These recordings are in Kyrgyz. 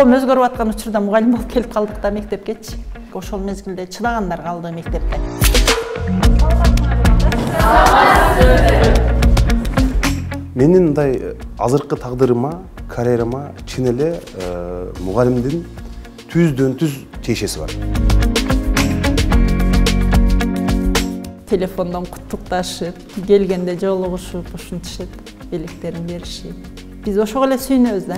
коом өзгөрүп аткан учурда мугалим болуп келип калдык да мектепкечи. Ошол мезгилде чыдагандар калды мектепте. Менин мындай азыркы тагдырыма, карьерама чын эле мугалимдин түздөн түз тиешеси бар. Телефондон куттукташып, келгенде жолугушуп, ушинтишет, белектерин беришип. Биз ошого эле сүйүнөбүз да.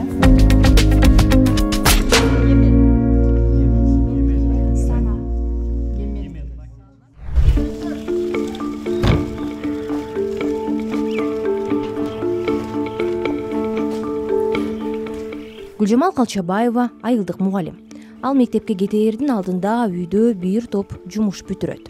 Гүлжамал Калчабаева айылдык мугалим. Ал мектепке кетээрдин алдында үйдө бир топ жумуш бүтүрөт.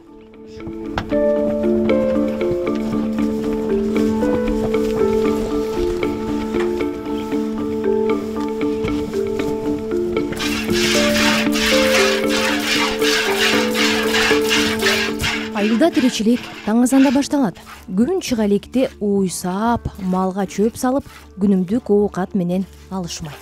Айылда тиричилик таң азанда башталат. Күн чыга электе уй саап, малга чөп салып, күнүмдүк оокат менен алышмай.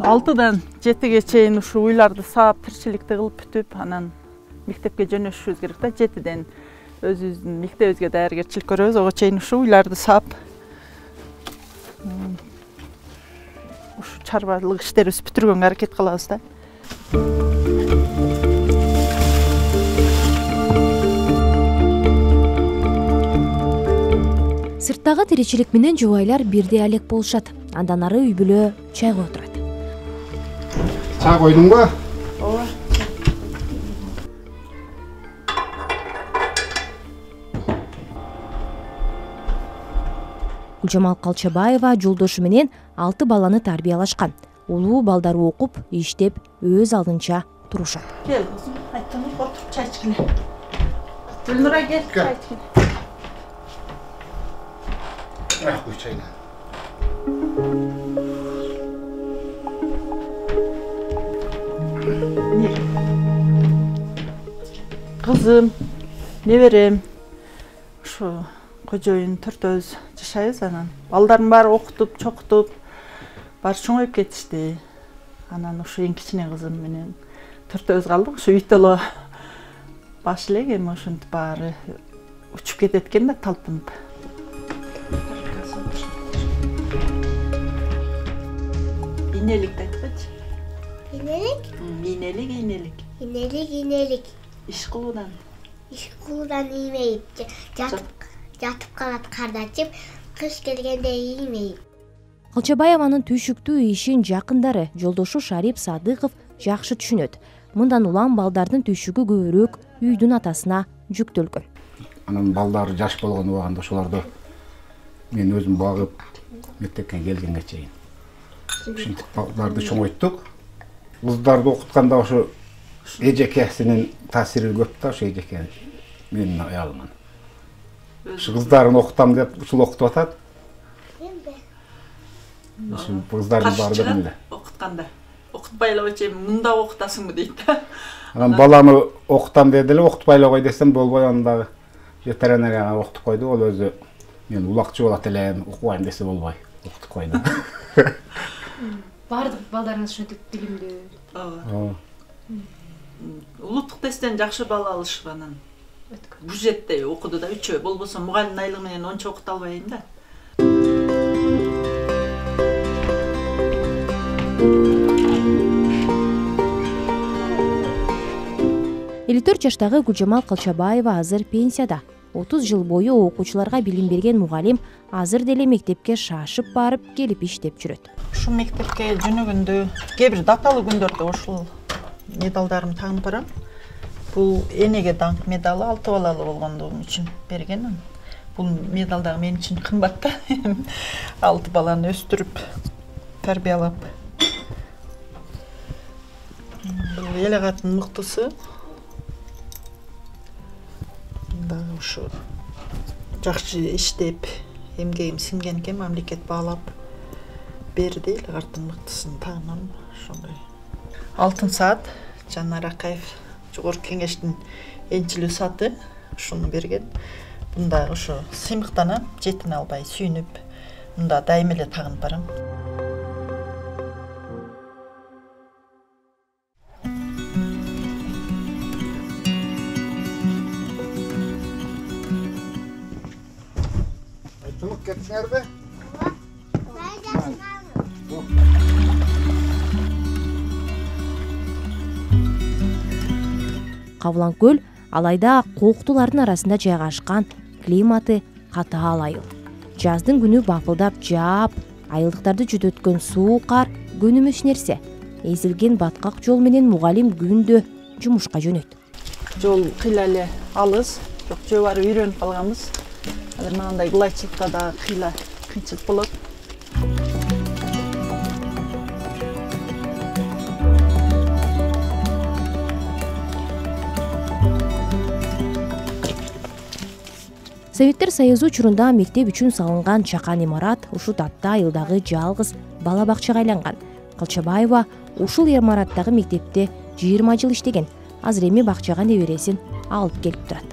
6-дан 7-ге чейин ушу уйларды саап, тиричиликти кылып бүтүп, анан мектепке жөнөшүшүбүз керек да. 7-ден өзүбүздүн мектебибизге даяргерчилик көрөбүз. Ого чейин ушу уйларды саап, ушу чарбалык иштерибизди бүтүргөнгө аракет кылабыз да. Сырттагы тиричилик менен жубайлар бирдей алек болушат. Андан ары үй бүлө чайга отурат. Чай койдуңбу? Ооба. Гүлжамал Калчабаева жолдошу менен 6 баланы тарбиялашкан. Улуу балдары окуп, иштеп, өз алдынча турушат. Кел, айтсаң, отуруп чай ичкиле. Гүлнура кел, чай ичкиле. Рахмат чайна. Кызым, неберем, ушу кожоюн төртөөбүз жашайбыз анан. Балдардын баары окутуп, чокутуп, баары чоңоюп кетишти. Анан ушу эң кичине кызым менен төртөөбүз калдык. Ушу үйдө эле баш элек эми ошентип баары учуп кетет экен да талпынып. Инелик айтпачы. Инелик? Инелик. Иш кылуудан иймейт. Жатып калат кардачып, кыш келгенде иймейт. Калчабаеванын түйшүктүү ишин жакындары жолдошу Шарип Садыков жакшы түшүнөт. Мындан улам балдардын түйшүгү көбүрөөк үйдүн атасына жүктөлгөн. Анан балдар жаш болгон убагында ошолорду мен өзүм багып мектепке келгенге чейин. Ушинтип балдарды чоңойттук. Кыздарды окутканда ошо эжекесинин таасири көп да, ошо эжеке менин аялымын. Ушу кыздарын окутам деп ушул окутуп атат. Ушу кыздардын баары да эле. Окутканда. Окутпай эле койчу, мында окутасыңбы дейт да. Анан баланы окутам деди эле, окутпай эле кой десем болбой, анда ветеринарияга окутуп койду. Ол өзү мен улакчы болот элем, окубайм десе болбой, окутуп койду. Бардык балдарыңыз ушинтип билимдүү. Ооба. Улуттук тесттен жакшы бал алышып анан. Бюджетте окуду да 3 ай. Болбосо мугалимдин айлыгы менен ончо окута албайм да. 54 жаштагы Гүлжамал Калчабаева азыр пенсияда. 30 жыл бою окуучуларга билим берген мугалим азыр деле мектепке шашып барып келип иштеп жүрөт. Ушу мектепке жөнөгөндө кээ бир даталуу күндөрдө ушул медалдарымды тагынып барам. Бул энеге даңк медалы 6 балалуу болгондугум үчүн берген. Бул медал дагы мен үчүн кымбат да. 6 баланы өстүрүп, тарбиялап. Бул эл агаттын мыктысы. Дагы ушу жакшы иштеп, эмгегим сиңген экен, мамлекет баалап берди. Эл агаттын мыктысын тагынам ошондой. Алтын саат Жанар Акаев Жогорку Кеңештин энчилүү сааты ушуну берген. Бунда ошо сыймыктанам, жетине албай сүйүнүп, мында дайым эле тагынып барам. Айтылып кеттиңерби? Кавлан көл алайда кооктулардын арасында жайгашкан, климаты катаал айыл. Жаздын күнү бапылдап жаап, айылдыктарды жүдөткөн суук кар көнүмүш нерсе. Эзилген баткак жол менен мугалим күндө жумушка жөнөйт. Жол кыйла эле алыс, жок жөө бары үйрөнүп калганбыз. Азыр мындай ылайчылыкта да кыйла кыйынчылык болот. Советтер Союзу учурунда мектеп үчүн салынган чакан имарат ушул татта айылдагы жалгыз бала бакчага айланган. Калчабаева ушул имараттагы мектепте 20 жыл иштеген. Азыр эми бакчага небересин алып келип турат.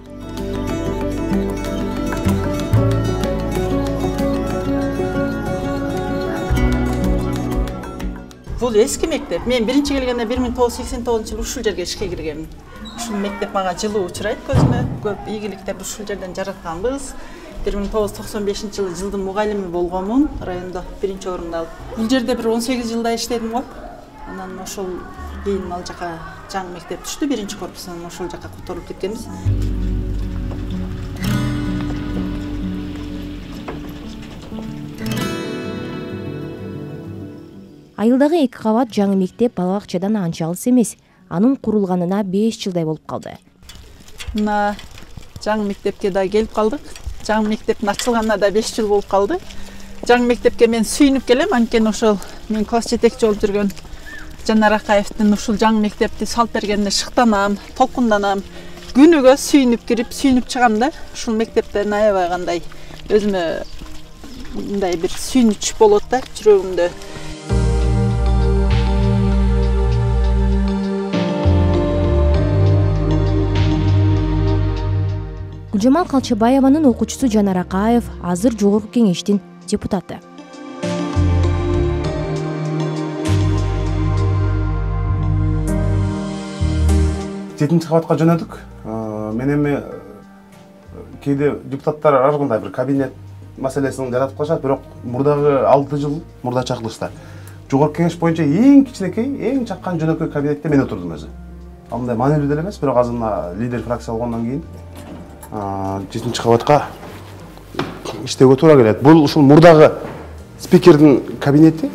Бул эски мектеп. Мен биринчи келгенде 1989-жылы ушул жерге ишке киргенмин. Ушул мектеп мага жылуу учурайт көзүмө. Көп ийгиликтерди ушул жерден жаратканбыз. 1995-жылы жылдын мугалими болгонмун, райондо биринчи орунду алып. Бул жерде бир 18 жылдай иштедим го. Анан ошол кийин ал жака жаңы мектеп түштү, биринчи корпусунан ошол жака которулуп кеткенбиз. Айылдагы 2 кабат жаңы мектеп бала бакчадан анча алыс эмес. Анын курулганына 5 жылдай болуп калды. Мына жаңы мектепке да келип калдык. Жаңы мектептин ачылганына да 5 жыл болуп калды. Жаңы мектепке мен сүйүнүп келем, анткени ошол мен класс жетекчи болуп жүргөн Жанар Акаевдин ушул жаңы мектепти салып бергенине шыктанам, толкунданам. Күнүгө сүйүнүп кирип, сүйүнүп чыгам да. Ушул мектептен аябай кандай өзүмө мындай бир сүйүнүч болот да жүрөгүмдө. Гүлжамал Калчабаеванын окуучусу Жанар Акаев азыр жогорку кеңештин депутаты. Жетинчи кабатка жөнөдүк. Мен эми кээде депутаттар ар кандай бир кабинет маселесин жаратып калышат, бирок мурдагы 6 жыл мурда чакырылышта жогорку кеңеш боюнча эң кичинекей, эң чаккан жөнөкөй кабинетте мен отурдум өзү. Ал мындай маанилүү деле эмес, бирок азыр мына лидер фракция болгондон кийин 7-чи кабатка иштөөгө туура келет. Бул ушул мурдагы спикердин кабинети.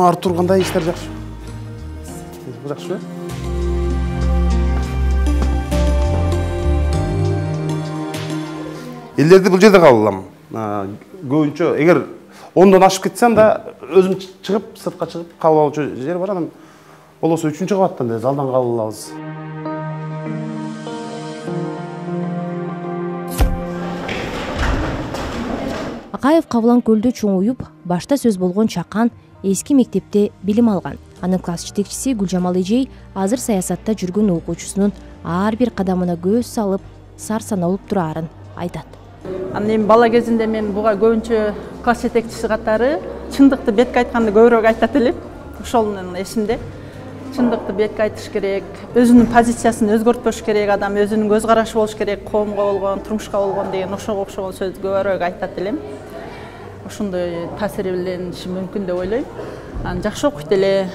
Артур кандай иштер жакшы? Жакшы. Элдерди бул жерде кабыл алам. Көбүнчө эгер 10дон ашып кетсем да өзүм чыгып, сыртка чыгып кабыл алуучу жер бар. Анан болосо 3-чү кабаттан да залдан кабыл алабыз. Акаев Кавлан көлдө чоңуюп, башта сөз болгон чакан эски мектепте билим алган. Анын класс жетекчиси Гүлжамал эжей азыр саясатта жүргөн окуучусунун ар бир кадамына көз салып, сар саналып турарын айтат. Анан эми бала кезинде мен буга көбүнчө класс жетекчиси катары чындыкты бетке айтканды көбүрөөк айтат элем. Ошонун эсимде. Чындыкты бетке айтыш керек, өзүнүн позициясын өзгөртпөш керек, адам өзүнүн көз карашы болуш керек, коомго болгон, турмушка болгон деген ошого окшогон сөздү көбүрөөк айтат элем. Ошондой таасири билениши мүмкүн деп ойлойм. Анан жакшы окуйт эле,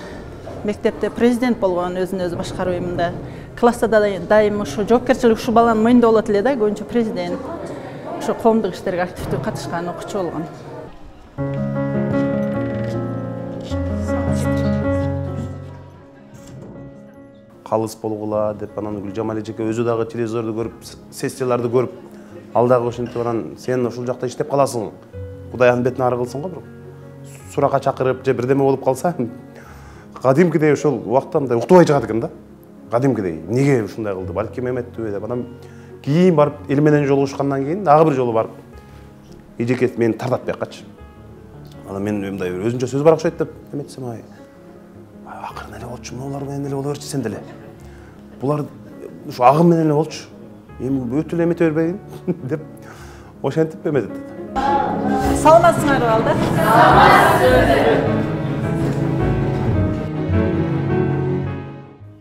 мектепте президент болгон, өзүн өзү башкаруу эминде. Класста да дайым ошо жоопкерчилик ушул баланын мойнунда болот эле да, көбүнчө президент. Ошо коомдук иштерге активдүү катышкан окуучу болгон. Калыс болгула деп анан Гүлжамал эжеке өзү дагы телевизорду көрүп, сессияларды көрүп, ал дагы ошентип анан сен ушул жакта иштеп каласың. Кудайдын бетине ары кылсың го, бирок суракка чакырып же бирдеме болуп калса, кадимкидей ошол убакта мындай уктубай чыгат экен да. Кадимкидей, эмнеге ушундай кылды, балким эметпи деп. Анан кийин барып эл менен жолугушкандан кийин дагы бир жолу барып эжеке мени тартат бияқкачы. Анан мен мындай өзүнчө сөз бар окшойт деп эметсем, акырын эле болчу, булар менен эле боло берчи сен деле. Булар ушу агым менен эле болчу. эми өтө эле эмете бербейин деп ошентип эметет. Саламатсыңарбы балдар?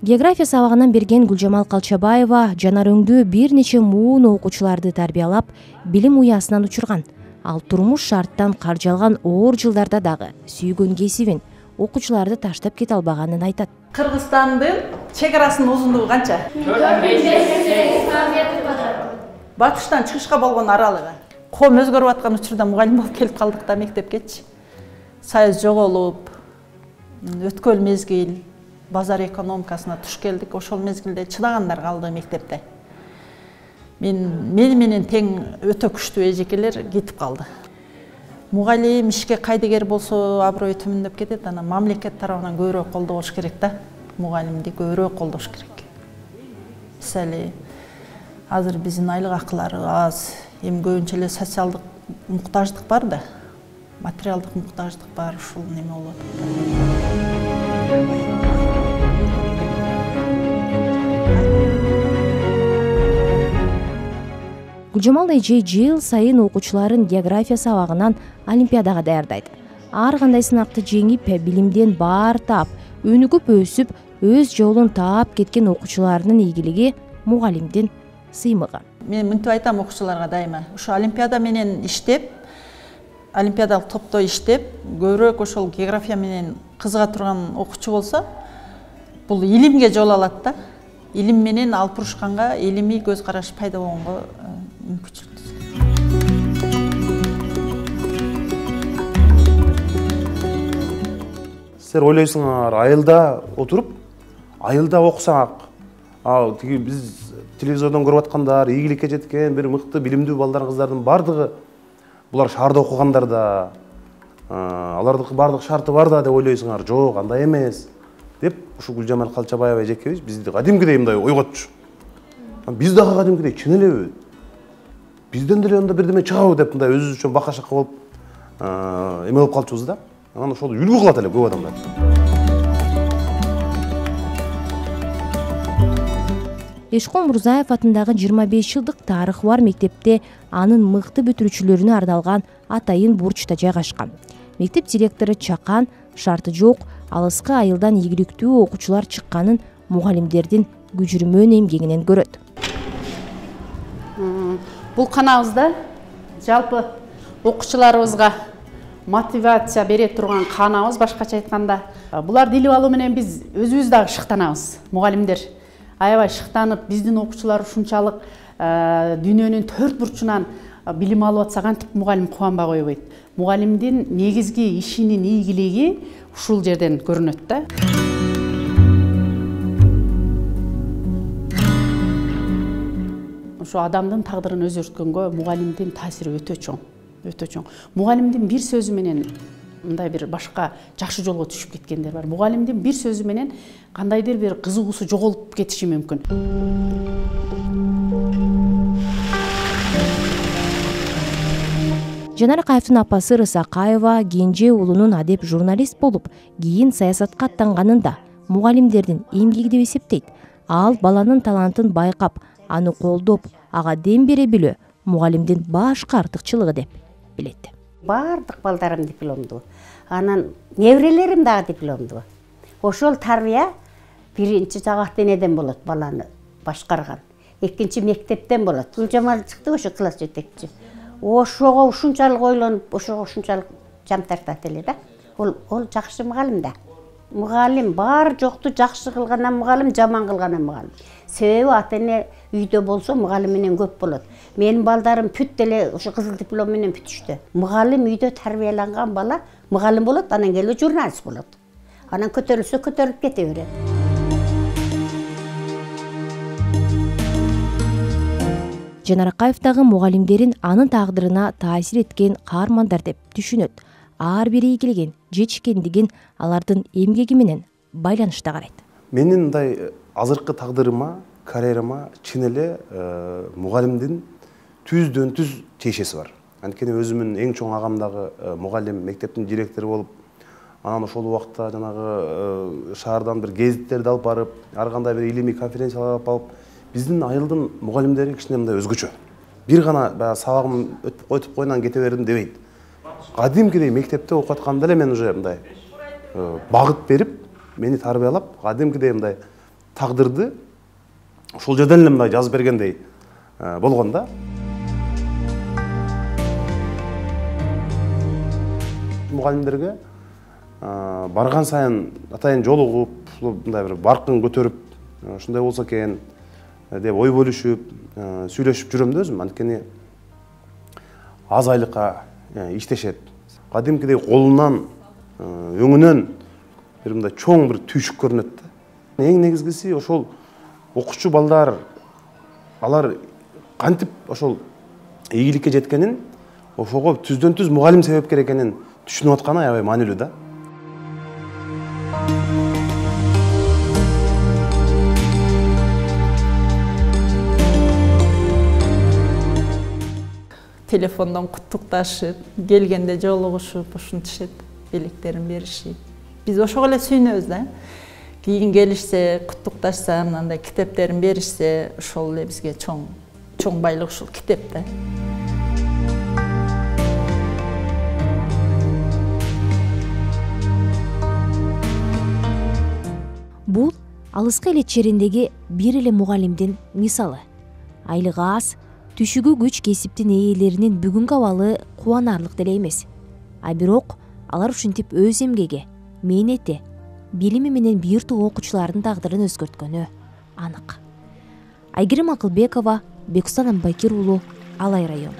География сабагынан берген Гүлжамал Калчабаева жанар өңдүү бир нече муун окуучуларды тарбиялап, билим уясынан учурган. Ал турмуш шарттан каржалган оор жылдарда дагы сүйгөн кесибин, окуучуларды таштап кете албаганын айтат. Кыргызстандын чек арасынын узундугу канча? 4,8 километр. Батыштан чыгышка болгон аралыгы. Ком өзгөрүп аткан учурда мугалим болуп келип калдык да мектепкечи. Союз жоголуп, өткөл мезгил, базар экономикасына туш келдик. Ошол мезгилде чыдагандар калды мектепте. Мени менен тең өтө күчтүү эжекелер кетип калды. Мугалим ишке кайдыгер болсо аброй төмөндөп кетет. Анан мамлекет тарабынан көбүрөөк колдош керек да. Мугалимди көбүрөөк колдош керек. Мисалы, азыр биздин айлык акылары аз, эми көбүнчө эле социалдык муктаждык бар да. Материалдык муктаждык бар, ушул неме болот. Гүлжамал эже жыл сайын окуучуларын география сабагынан олимпиадага даярдайт. Ар кандай сынакты жеңип, билимден баар таап, өнүгүп өсүп, өз жолун таап кеткен окуучуларынын ийгилиги мугалимдин сыймыгы. Мен мынтип айтам окуучуларга дайыма. Ошо олимпиада менен иштеп, олимпиадалык топто иштеп, көбүрөөк ошол география менен кызыга турган окуучу болсо, бул илимге жол алат да. Илим менен алып урушканга, илимий көз караш пайда болгонго мүмкүнчүлүк түзөт. Силер ойлойсуңар, айылда отуруп, айылда окусаң, тиги биз телевизордон көрүп аткандар, ийгиликке жеткен бир мыкты билимдүү балдар, кыздардын бардыгы булар шаарда окугандар да, алардын бардык шарты бар да деп ойлойсуңар. Жок, андай эмес деп ушу Гүлжамал Калчабаева эжекебиз бизди кадимкидей мындай ойготчу. Биз дагы кадимкидей чын элеби? Бизден деле анда бирдеме чыгабы деп мындай өзүбүз үчүн бака-шака болуп эме болуп калчубуз да. Анан ошол үлгү кылат эле көп адамдар. Эшкул Мурзаев атындагы 25 жылдык тарыхы бар мектепте анын мыкты бүтүрүүчүлөрүнө арналган атайын бурчта жайгашкан. Мектеп директору Чакан шарты жок, алыскы айылдан ийгиликтүү окуучулар чыкканын мугалимдердин күжүрмөн эмгегинен көрөт. Бул канабызда жалпы окуучуларыбызга мотивация бере турган канабыз, башкача айтканда. Буларды илип алуу менен биз өзүбүз дагы шыктанабыз. Мугалимдер аябай шыктанып, биздин окуучулар ушунчалык дүйнөнүн төрт бурчунан билим алып атса кантип мугалим кубанбай койбойт. Мугалимдин негизги ишинин ийгилиги ушул жерден көрүнөт да. Ошо адамдын тагдырын өзгөрткөнгө мугалимдин таасири өтө чоң, өтө чоң. Мугалимдин бир сөзү менен мындай бир башка жакшы жолго түшүп кеткендер бар. Мугалимдин бир сөзү менен кандайдыр бир кызыгуусу жоголуп кетиши мүмкүн. Жанар Акаевдин апасы Рысакаева кенже уулунун адеп журналист болуп, кийин саясатка аттанганында мугалимдердин эмгеги деп эсептейт. Ал баланын талантын байкап, аны колдоп, ага дем бере билүү мугалимдин башкы артыкчылыгы деп билет. Бардык балдарым дипломдуу. Анан неберелерим дагы дипломдуу. Ошол тарбия биринчи жагат денеден болот, баланы башкарган. Экинчи мектептен болот. Гүлжамал чыкты ошо класс жетекчи. Ошого ушунчалык ойлонуп, ошого ушунчалык жан тартат эле да. Ол жакшы мугалим да. Мугалим бар жокту жакшы кылгандан мугалим, жаман кылгандан мугалим. Себеби ата-эне үйдө болсо мугалим менен көп болот. Менин балдарым бүт эле ошо кызыл диплом менен бүтүштү. Мугалим үйдө тарбияланган бала мугалим болот, анан келип журналист болот. Анан көтөрүлсө көтөрүлүп кете берет. Жанар Акаев дагы мугалимдерин анын тагдырына таасир эткен каармандар деп түшүнөт. Ар бири ийгилигин, жетишкендигин алардын эмгеги менен байланышта карайт. Менин мындай азыркы тагдырыма, карьерама чын эле мугалимдин түздөн түз тиешеси бар. Анткени өзүмүн эң чоң агам дагы мугалим, мектептин директору болуп, анан ошол убакта жанагы шаардан бир гезиттерди алып барып, ар кандай бир илимий конференциялар алып Биздин айылдын мугалимдери кичине мындай өзгөчө. Бир гана баягы сабагым өтүп койгондон кете бердим дебейт. Кадимкидей мектепте окуп атканда эле мен уже мындай багыт берип, мени тарбиялап, кадимкидей мындай тагдырды ошол жерден эле мындай жазып бергендей болгон да. Мугалимдерге барган сайын атайын жолугуп, мындай бир баркын көтөрүп, ушундай болсо экен деп ой бөлүшүп, сүйлөшүп жүрөм да өзүм. Анткени аз айлыкка иштешет. Кадимкидей колунан, өңүнөн бир мындай чоң бир түйшүк көрүнөт да. Эң негизгиси ошол окуучу балдар, алар кантип ошол ийгиликке жеткенин, ошого түздөн түз мугалим себепкер экенин түшүнүп атканы аябай маанилүү да. Телефондон куттукташып, келгенде жолугушуп, ушинтишет, белектерин беришип. Биз ошого эле сүйүнөбүз да. Кийин келишсе, куттукташса, мындай китептерин беришсе, ошол эле бизге чоң байлык ушул китеп да. Бул алыскы эле чериндеги бир эле мугалимдин мисалы. Айлыгы аз, түшүгү күч кесиптин ээлеринин бүгүнкү абалы кубанарлык деле эмес. А бирок алар ушинтип өз эмгеги, мээнети, билими менен бир топ окуучулардын тагдырын өзгөрткөнү анык. Айгерим Акылбекова, Бекустан Амбакир уулу, Алай району.